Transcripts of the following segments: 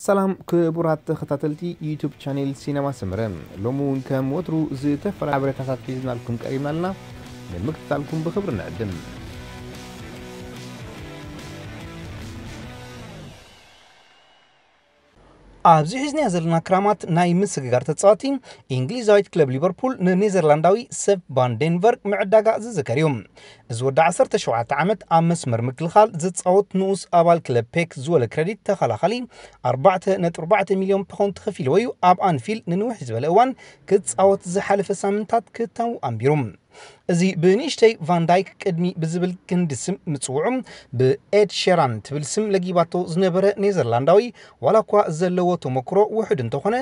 ሰላም ክቡራት ተኸታተልቲ ዩቱብ ቻኔል ሲነማ ሰመረ፣ ሎሚ እውን ከም ወትሩ ዝተፈላለዩ ሓበሬታታት ሒዝናልኩም ቀሪብና ኣለና። ንምክትታልኩም ብኽብሪ ንዕድም። ኣብዚ ሒዝናዮ ዘለና ክራማት ናይ ምስግጋር ተጻዋቲ፣ እንግሊዛዊት ክለብ ሊቨርፑል ንኔዘርላንዳዊ ሴፕ ቫን ደንበርግ ምዕዳጋ ዝዝከር እዩ። እዚ ወዲ ዓሰርተ ሸውዓተ ዓመት ኣብ መስመር ምክልኻል ዝጻወት ንኡስ ኣባል ክለብ ፔክ ዝወለ ክረዲት ተኸላኻሊ፣ ኣርባዕተ ነጥቢ ኣርባዕተ ሚልዮን ፓውንድ ተኸፊልዎ እዩ ኣብ ኣንፊልድ ንንውሕ ዝበለ እዋን ክጻወት ዝሓለፈ ሳምንታት ክታው ኣንቢሩ። እዚ ብንእሽተይ ቫን ዳይክ ቅድሚ ብዝብል ክንዲ ስም ምጽውዑ፣ ብኤድ ሸራን ትብል ስም ለጊባቶ ዝነበረ ኔዘርላንዳዊ፣ ዋላ እኳ ዘለዎ ተመክሮ ውሑድ እንተኾነ፣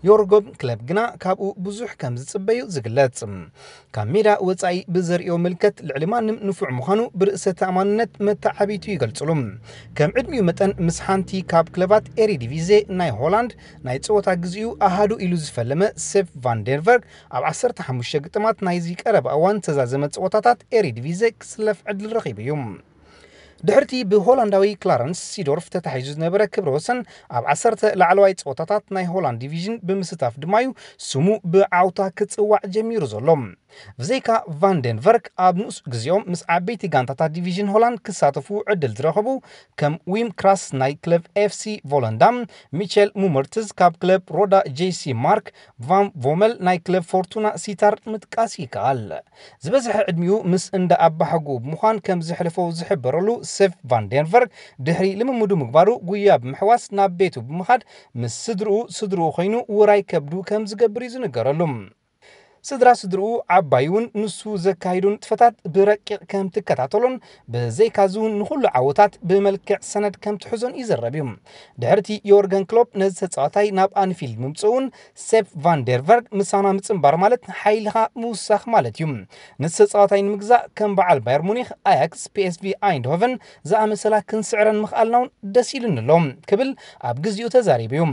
ዮርገን ክለፕ ግና ካብኡ ብዙሕ ከም ዝጽበዩ ዝግለጽ። ካብ ሜዳ ወጻኢ ብዘርእዮ ምልከት ልዕሊ ማንም ንፉዕ ምዃኑ ብርእሰ ተኣማንነት መተዓቢቱ ይገልጽሉ። ከም ዕድሚኡ መጠን ምስ ሓንቲ ካብ ክለባት ኤሪዲቪዜ ናይ ሆላንድ ናይ ጸወታ ግዜኡ ኣሃዱ ኢሉ ዝፈለመ ሴፕ ቫን ደንበርግ ኣብ ዓሰርተ ሓሙሽተ ግጥማት ናይዚ ቀረባ እዋን ዝተዛዘመ ጸወታታት ኤሪዲቪዜ ክስለፍ ዕድል ረኺቡ እዩ። ድሕርቲ ብሆላንዳዊ ክላረንስ ሲዶርፍ ተታሒዙ ዝነበረ ክብረ ወሰን ኣብ ዓሰርተ ላዕለዋይ ጸወታታት ናይ ሆላንድ ዲቪዥን ብምስታፍ ድማ እዩ ስሙ ብዓውታ ክጽዋዕ ጀሚሩ ዘሎ። ብዘይካ ቫን ደንቨርክ ኣብ ንኡስ ግዜኦም ምስ ዓበይቲ ጋንታታት ዲቪዥን ሆላንድ ክሳተፉ ዕድል ዝረኸቡ ከም ዊም ክራስ ናይ ክለብ ኤፍሲ ቮለንዳም፣ ሚቸል ሙመርትዝ ካብ ክለብ ሮዳ ጄሲ ማርክ ቫን ቮመል ናይ ክለብ ፎርቱና ሲታር ምጥቃስ ይከኣል። ዝበዝሐ ዕድሚኡ ምስ እንዳ ኣባሓጎኡ ብምዃን ከም ዘሕለፎ ዝሕበረሉ ሴፕ ቫን ደንቨርክ፣ ድሕሪ ልምምዱ ምግባሩ ጉያ ብምሕዋስ ናብ ቤቱ ብምኻድ ምስ ስድርኡ፣ ስድርኡ ኮይኑ ውራይ ከብዱ ከም ዝገብር እዩ ዝንገረሉ። ስድራ ስድርኡ ዓባይ እውን ንሱ ዘካይዶ ንጥፈታት ብረቂቕ ከም ትከታተሎን ብዘይካዚ እውን ንኹሉ ዓወታት ብመልክዕ ሰነድ ከም ትሕዞን ይዝረብ እዩ። ድሕርቲ ዮርገን ክሎፕ ነዚ ተጻዋታይ ናብ ኣንፊልድ ምምጽኡ እውን ሴፕ ቫን ደርቨርግ ምሳና ምጽንባር ማለት ሓይልኻ ምውሳኽ ማለት እዩ። ነዚ ተጻዋታይ ንምግዛእ ከም በዓል ባየር ሙኒክ፣ ኣያክስ፣ ፒኤስቪ ኣይንድሆቨን ዝኣመሰላ ክንስዕረን ምኽኣልና እውን ደስ ኢሉኒ ኣሎ ክብል ኣብ ግዜኡ ተዛሪቡ እዩ።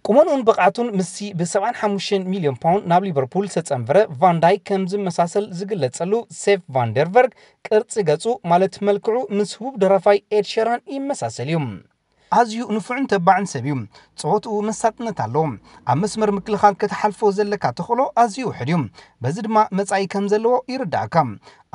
ቁመንኡን ብቕዓቱን ምስቲ ብ75 ሚልዮን ፓውንድ ናብ ሊቨርፑል ዝተጸንበረ ቫን ዳይክ ከም ዝመሳሰል ዝግለጸሉ ሴፕ ቫን ደርቨርግ ቅርጺ ገጹ ማለት መልክዑ ምስ ህቡብ ደራፋይ ኤድ ሸራን ይመሳሰል እዩ። ኣዝዩ ንፉዕን ተባዕን ሰብ እዩ። ጸወትኡ መሳጥነት ኣለዎ። ኣብ መስመር ምክልኻል ክትሓልፎ ዘለካ ተኽእሎ ኣዝዩ ውሑድ እዩ። በዚ ድማ መጻኢ ከም ዘለዎ ይርዳእካ።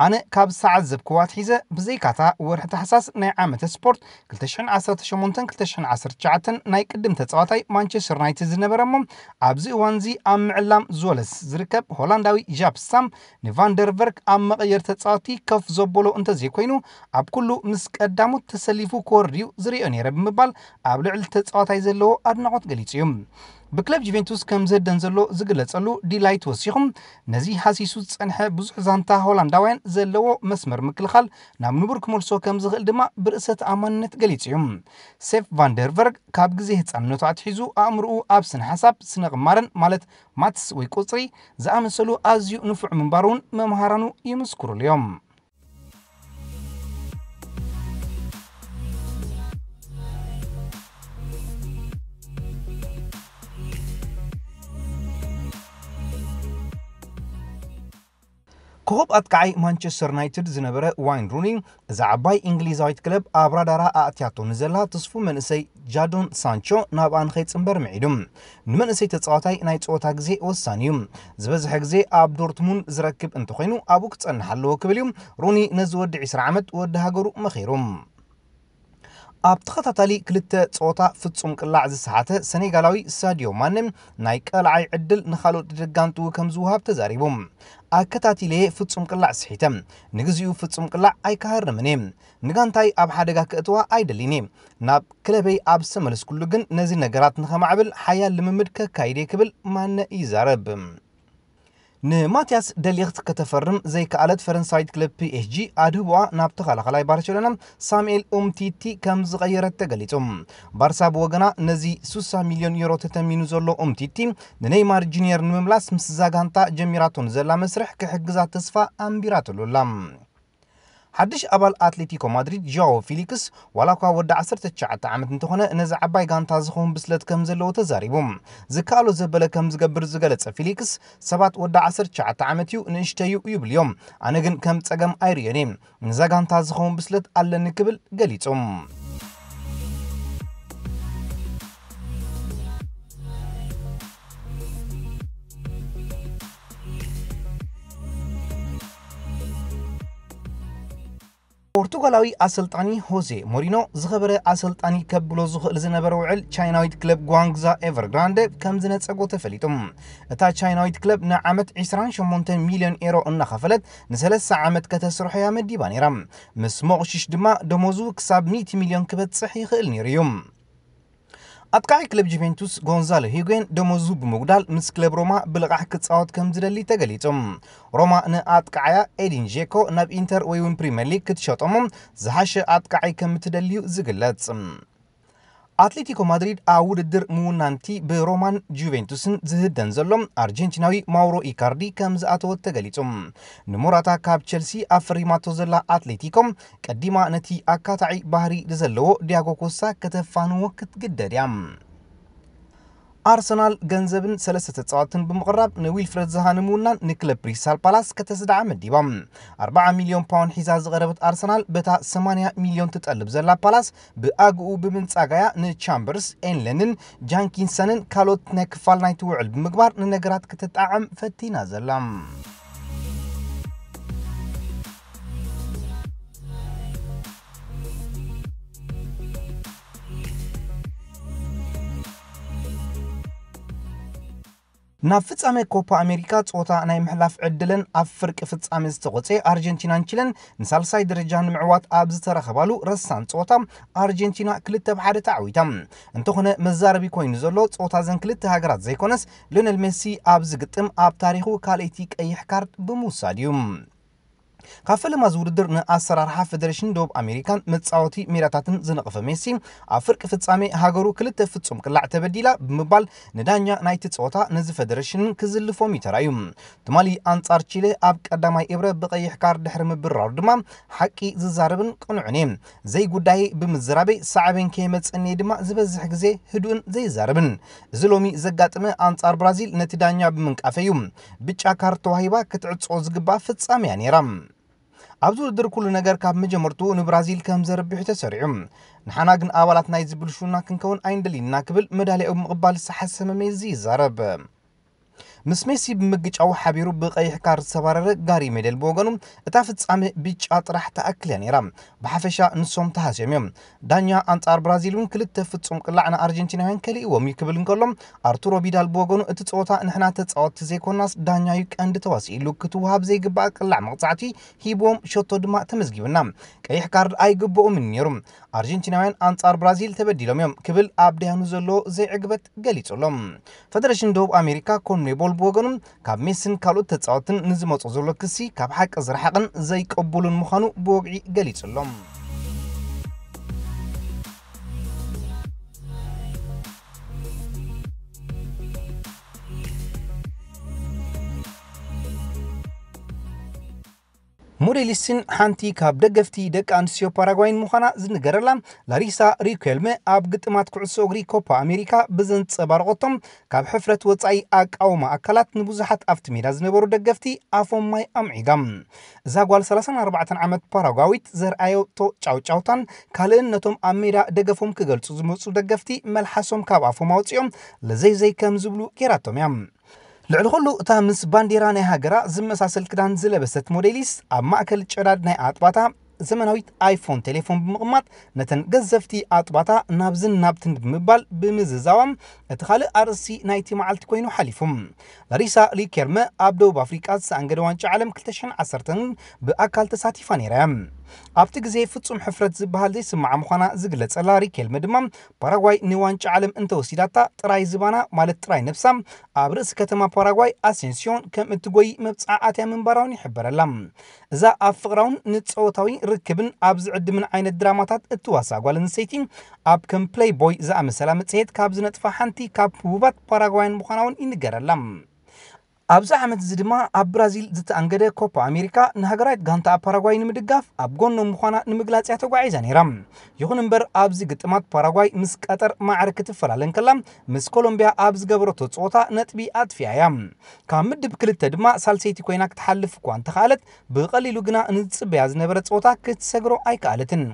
ኣነ ካብ ዝዓዘብክዎ ኣትሒዘ ብዘይካታ ወርሒ ታሕሳስ ናይ ዓመተ ስፖርት ክልተ ሽሕን ዓሰርተ ሸሞንተን ክልተ ሽሕን ዓሰርተ ትሽዓተን ናይ ቅድም ተጻዋታይ ማንቸስተር ዩናይትድ ዝነበረ እሞ ኣብዚ እዋንዚ ኣብ ምዕላም ዝወለስ ዝርከብ ሆላንዳዊ ጃፕ ስታም ንቫንደርቨርክ ኣብ መቐየር ተጻዋቲ ከፍ ዘበሎ እንተዘይኮይኑ ኣብ ኩሉ ምስ ቀዳሞት ተሰሊፉ ክወርድ እዩ ዝርእዮ ነይረ ብምባል ኣብ ልዕሊ ተጻዋታይ ዘለዎ ኣድናቖት ገሊጹ እዩ። ብክለብ ጁቬንቱስ ከም ዘደን ዘሎ ዝግለጸሉ ዲላይት ወሲኹም ነዚ ሃሲሱ ዝጸንሐ ብዙሕ ዛንታ ሆላንዳውያን ዘለዎ መስመር ምክልኻል ናብ ንቡር ክመልሶ ከም ዝኽእል ድማ ብርእሰ ተኣማንነት ገሊጹ እዩ። ሴፕ ቫንደርቨርግ ካብ ግዜ ህጻንነቱ ኣትሒዙ ኣእምሮኡ ኣብ ስነ ሓሳብ፣ ስነ ቅማረን ማለት ማትስ ወይ ቁጽሪ ዝኣመሰሉ ኣዝዩ ንፉዕ ምንባሩ እውን መምሃራኑ ይምስክሩሉ እዮም። ኮኸብ ኣጥቃዓይ ማንቸስተር ዩናይትድ ዝነበረ ዋይን ሩኒ፣ እዛ ዓባይ እንግሊዛዊት ክለብ ኣብ ራዳራ ኣእትያቶ ንዘላ ትስፉ መንእሰይ ጃዶን ሳንቾ ናብኣ ንኸይጽንበር ምዒዱ። ንመንእሰይ ተጻዋታይ ናይ ጸወታ ግዜ ወሳኒ እዩ። ዝበዝሐ ግዜ ኣብ ዶርትሙንድ ዝረክብ እንተኾይኑ ኣብኡ ክጸንሕ ኣለዎ ክብል እዩ ሩኒ ነዚ ወዲ ዕስራ ዓመት ወዲ ሃገሩ መኺሩ። ኣብ ተኸታታሊ ክልተ ጸወታ ፍጹም ቅላዕ ዝሰሓተ ሰኔጋላዊ ሳድዮ ማነ ናይ ቀልዓይ ዕድል ንኻልኦት ደጋንትኡ ከም ዝወሃብ ተዛሪቡ። ኣከታቲለየ ፍጹም ቅላዕ ስሒተ። ንግዚኡ ፍጹም ቅላዕ ኣይከሃርምን እየ። ንጋንታይ ኣብ ሓደጋ ክእትዋ ኣይደልን እየ። ናብ ክለበይ ኣብ ዝተመለስኩሉ ግን ነዚ ነገራት ንኸማዕብል ሓያል ልምምድ ከካይድ እየ ክብል ማነ ይዛረብ። ንማትያስ ደሊኽት ከተፈርም ዘይከኣለት ፈረንሳዊት ክለብ ፒኤስጂ ኣድህቦኣ ናብ ተኸላኸላይ ባርሴሎና ሳሙኤል ኡምቲቲ ከም ዝቐየረት ተገሊጹ። ባርሳ ብወገና ነዚ ስሳ ሚልዮን ዩሮ ተተሚኑ ዘሎ ኡምቲቲ ንኔይማር ጁኒየር ንምምላስ ምስዛ ጋንታ ጀሚራቶ ንዘላ መስርሕ ክሕግዛ ተስፋ ኣንቢራትሉ ኣላ። ሓድሽ ኣባል ኣትሌቲኮ ማድሪድ ዣኦ ፊሊክስ ዋላ እኳ ወዲ ዓሰርተ ትሽዓተ ዓመት እንተኾነ ነዚ ዓባይ ጋንታ ዝኸውን ብስለት ከም ዘለዎ ተዛሪቡ። ዝከኣሎ ዘበለ ከም ዝገብር ዝገለጸ ፊሊክስ ሰባት ወዲ ዓሰርተ ትሽዓተ ዓመት እዩ ንእሽተዩ ይብል እዮም። ኣነ ግን ከም ጸገም ኣይርእዮን እየ። ንዛ ጋንታ ዝኸውን ብስለት ኣለኒ ክብል ገሊጹ። ፖርቱጋላዊ ኣሰልጣኒ ሆዜ ሞሪኖ ዝኸበረ ኣሰልጣኒ ከብሎ ዝኽእል ዝነበረ ውዕል ቻይናዊት ክለብ ጓንግዛ ኤቨርግራንደ ከም ዝነጸጎ ተፈሊጡ። እታ ቻይናዊት ክለብ ንዓመት ዕስራን ሸሞንተን ሚልዮን ኤሮ እናኸፈለት ንሰለስተ ዓመት ከተስርሖ እያ መዲባ ነይራ። ምስ ሞቕሽሽ ድማ ደሞዙ ክሳብ ሚእቲ ሚልዮን ክበጽሕ ይኽእል ነይሩ እዩ። ኣጥቃዒ ክለብ ጁቬንቱስ ጎንዛሎ ሂጉዌን ደሞዙ ብምጉዳል ምስ ክለብ ሮማ ብልቓሕ ክጻወት ከም ዝደሊ ተገሊጹ። ሮማ ንኣጥቃዓያ ኤዲን ዤኮ ናብ ኢንተር ወይ እውን ፕሪምየር ሊግ ክትሸጦሞ ዝሓሸ ኣጥቃዓይ ከም እትደልዩ ዝግለጽ። ኣትሌቲኮ ማድሪድ ኣብ ውድድር ምውናንቲ ብሮማን ጁቬንቱስን ዝህደን ዘሎ ኣርጀንቲናዊ ማውሮ ኢካርዲ ከም ዝኣተወት ተገሊጹ። ንሞራታ ካብ ቸልሲ ኣፈሪማቶ ዘላ ኣትሌቲኮ ቀዲማ ነቲ ኣካታዒ ባህሪ ዘለዎ ዲያጎ ኮስታ ከተፋንዎ ክትግደድ እያ። ኣርሰናል ገንዘብን ሰለስተ ተጻወትን ብምቕራብ ንዊልፍረድ ዛሃ ንምውናን ንክለብ ክሪስታል ፓላስ ከተስድዓ መዲባ። ኣርብዓ ሚልዮን ፓውንድ ሒዛ ዝቐረበት ኣርሰናል በታ ሰማንያ ሚልዮን ትጠልብ ዘላ ፓላስ ብኣግኡ ብምንጻጋያ ንቻምበርስ፣ ኤንለንን ጃንኪንሰንን ካልኦት ናይ ክፋል ናይቲ ውዕል ብምግባር ንነገራት ክትጣዓም ፈቲና ዘላ። ናብ ፍጻሜ ኮፓ ኣሜሪካ ጾታ ናይ ምሕላፍ ዕድለን ኣብ ፍርቂ ፍጻሜ ዝተቖጸ ኣርጀንቲናን ቺለን ንሳልሳይ ደረጃ ንምዕዋት ኣብ ዝተረኸባሉ ረሳን ጾታ ኣርጀንቲና ክልተ ብ ሓደ ተዓዊታ። እንተኾነ መዛረቢ ኮይኑ ዘሎ ጾታ ዘን ክልተ ሃገራት ዘይኮነስ ሊዮነል ሜሲ ኣብዚ ግጥም ኣብ ታሪኹ ካልኣይቲ ቀይሕ ካርድ ብምውሳድ እዩ። ካብ ፈለማ ዝውድድር ንኣሰራርሓ ፌደሬሽን ደቡብ ኣሜሪካን መጻወቲ ሜዳታትን ዝነቐፈ ሜሲ ኣብ ፍርቂ ፍጻሜ ሃገሩ ክልተ ፍጹም ቅላዕ ተበዲላ ብምባል ንዳኛ ናይቲ ጸወታ ነዚ ፌደሬሽንን ክዝልፎም እዩ ተራእዩ። ትማሊ ኣንጻር ቺለ ኣብ ቀዳማይ እብረ ብቐይሕ ካርድ ድሕሪ ምብራሩ ድማ ሓቂ ዝዛረብን ቅኑዕን እየ። ዘይጉዳይ ብምዝራበይ ሳዕቤን ከየመጸኒ ድማ ዝበዝሕ ግዜ ህዱእን ዘይዛረብን። እዚ ሎሚ ዘጋጠመ ኣንጻር ብራዚል ነቲ ዳኛ ብምንቃፈይ እዩ። ብጫ ካርድ ተዋሂባ ክትዕጾ ዝግባእ ፍጻሜ እያ ነይራ። ኣብዚ ውድድር ኩሉ ነገር ካብ መጀመርትኡ ንብራዚል ከም ዘርብሕ ተሰሪዑ። ንሓና ግን ኣባላት ናይዚ ብልሹና ክንከውን ኣይንደልን ኢና ክብል መዳልያኡ ብምቕባል ዝተሓሰመ ሜሲ ይዛረብ። ምስ ሜሲ ብምግጫው ሓቢሩ ብቐይሕ ካርድ ዝተባረረ ጋሪ ሜደል ብወገኑ እታ ፍጻሜ ብጫ ጥራሕ ትኣክል እያ ነይራ። ብሓፈሻ ንሶም ተሃስዮም እዮም። ዳኛ ኣንጻር ብራዚል እውን ክልተ ፍጹም ቅላዕ ንኣርጀንቲናውያን ከሊእዎም እዩ ክብል እንከሎ ኣርቱሮ ቢዳል ብወገኑ እቲ ጸወታ ንሕና ተጻወትቲ ዘይኮናስ ዳኛ እዩ ቀንዲ ተዋሲ ኢሉ ክትወሃብ ዘይግባእ ቅላዕ መቕጻዕቲ ሂብዎም ሸቶ ድማ ተመዝጊብና። ቀይሕ ካርድ ኣይግብኦምን ነይሩ። ኣርጀንቲናውያን ኣንጻር ብራዚል ተበዲሎም እዮም ክብል ኣብ ደያኑ ዘሎ ዘይዕግበት ገሊጹ ኣሎ። ፈደረሽን ደቡብ ኣሜሪካ ኮንሜቦል ብወገኑ ካብ ሜስን ካልኦት ተጻወትን ንዝመጾ ዘሎ ክሲ ካብ ሓቂ ዝረሓቕን ዘይቀቡሉን ምዃኑ ብወግዒ ገሊጹ ኣሎ። ሞዴሊስትን ሓንቲ ካብ ደገፍቲ ደቂ ኣንስትዮ ፓራጓይን ምዃና ዝንገረላ ላሪሳ ሪኩዌልመ ኣብ ግጥማት ኩዕሶ እግሪ ኮፓ ኣሜሪካ ብዘንጸባረቐቶም ካብ ሕፍረት ወጻኢ ኣቃውማ ኣካላት ንብዙሓት ኣብቲ ሜዳ ዝነበሩ ደገፍቲ ኣፎም ማይ ኣምዒጋ። እዛ ጓል ሰላሳን ኣርባዕተን ዓመት ፓራጓዊት ዘርኣየቶ ጫውጫውታን ካልእን ነቶም ኣብ ሜዳ ደገፎም ክገልጹ ዝመጹ ደገፍቲ መልሓሶም ካብ ኣፎም ኣውጺኦም ለዘይዘይ ከም ዝብሉ ጌራቶም እያ። ልዕሊ ኩሉ እታ ምስ ባንዴራ ናይ ሃገራ ዝመሳሰል ክዳን ዝለበሰት ሞዴሊስ ኣብ ማእከል ጨዳድ ናይ ኣጥባታ ዘመናዊት ኣይፎን ቴሌፎን ብምቕማጥ ነተን ገዘፍቲ ኣጥባታ ናብዝን ናብትን ብምባል ብምዝዛዋም እቲ ካልእ ኣርእስቲ ናይቲ መዓልቲ ኮይኑ ሓሊፉ። ላሪሳ ሪኬልመ ኣብ ደቡብ ኣፍሪቃ ዝተኣንገደ ዋንጫ ዓለም ክልተ ሽሕን ዓሰርተን ብኣካል ተሳቲፋ ነይራ እያ። ኣብቲ ግዜ ፍጹም ሕፍረት ዝበሃል ዘይስምዓ ምዃና ዝግለጸላ ሪኬልመ ድማ ፓራጓይ ንዋንጫ ዓለም እንተወሲዳታ ጥራይ ዝባና ማለት ጥራይ ነብሳ ኣብ ርእሲ ከተማ ፓራጓይ ኣሴንሲዮን ከም እትጎይ መብጽዓ ኣትያ ምንባራውን ይሕበረላ። እዛ ኣብ ፍቕራውን ንጸወታዊ ርክብን ኣብ ዝዕድምን ዓይነት ድራማታት እትዋሳእ ጓል ኣንስተይቲ ኣብ ከም ፕሌይ ቦይ ዝኣመሰላ መጽሔት ካብ ዝነጥፋ ሓንቲ ካብ ህቡባት ፓራጓያን ምዃና እውን ይንገረላ። ኣብዚ ዓመት እዚ ድማ ኣብ ብራዚል ዝተኣንገደ ኮፓ ኣሜሪካ ንሃገራዊት ጋንታ ፓራጓይ ንምድጋፍ ኣብ ጎኖም ምዃና ንምግላጽ እያ ተጓዒዛ ነይራ። ይኹን እምበር ኣብዚ ግጥማት ፓራጓይ ምስ ቀጠር ማዕረ ክትፈላለ እንከላ ምስ ኮሎምቢያ ኣብ ዝገበረቶ ጸወታ ነጥቢ ኣጥፊኣ እያ። ካብ ምድብ ክልተ ድማ ሳልሰይቲ ኮይና ክትሓልፍ እኳ እንተኸኣለት ብቐሊሉ ግና ንዝጽበያ ዝነበረ ጸወታ ክትሰግሮ ኣይከኣለትን።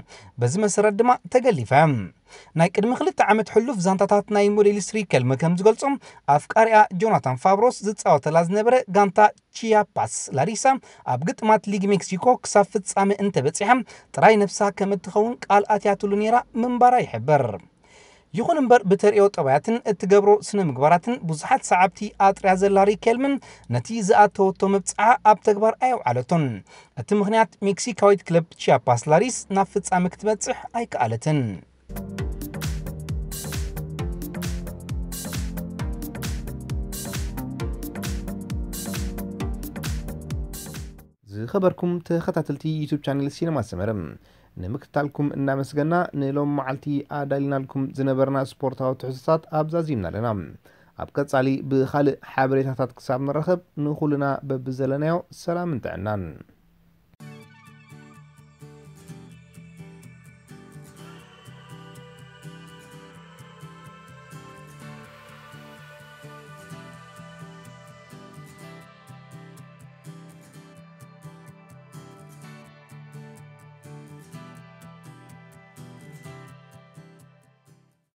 በዚ መሰረት ድማ ተገሊፋ እያ። ናይ ቅድሚ ክልተ ዓመት ሕሉፍ ዛንታታት ናይ ሞዴል ስትሪከልም ከም ዝገልጾም፣ ኣፍቃሪኣ ጆናታን ፋብሮስ ዝጻወተላ ዝነበረ ጋንታ ቺያፓስ ላሪሳ ኣብ ግጥማት ሊግ ሜክሲኮ ክሳብ ፍጻመ እንተበጺሓ ጥራይ ነብሳ ከም እትኸውን ቃል ኣትያትሉ ነይራ ምንባራ ይሕበር። ይኹን እምበር ብተርእዮ ጠባያትን እትገብሮ ስነ ምግባራትን ብዙሓት ሰዓብቲ ኣጥርያ ዘላ ሪከልምን ነቲ ዝኣተወቶ መብጽዓ ኣብ ተግባር ኣየውዓለቶን። እቲ ምኽንያት ሜክሲካዊት ክለብ ቺያፓስ ላሪስ ናብ ፍጻመ ክትበጽሕ ኣይከኣለትን። ዝኸበርኩም ተኸታተልቲ ዩቱብ ቻነል ሲነማ ሰመረ፣ ንምክትታልኩም እናመስገና ንሎም መዓልቲ ኣዳሊናልኩም ዝነበርና ስፖርታዊ ትሕዝቶታት ኣብዛዚምና ኣለና። ኣብ ቀጻሊ ብኻልእ ሓበሬታታት ክሳብ ንራኸብ ንኹልና በብዘለናዮ ሰላምን ጥዕናን።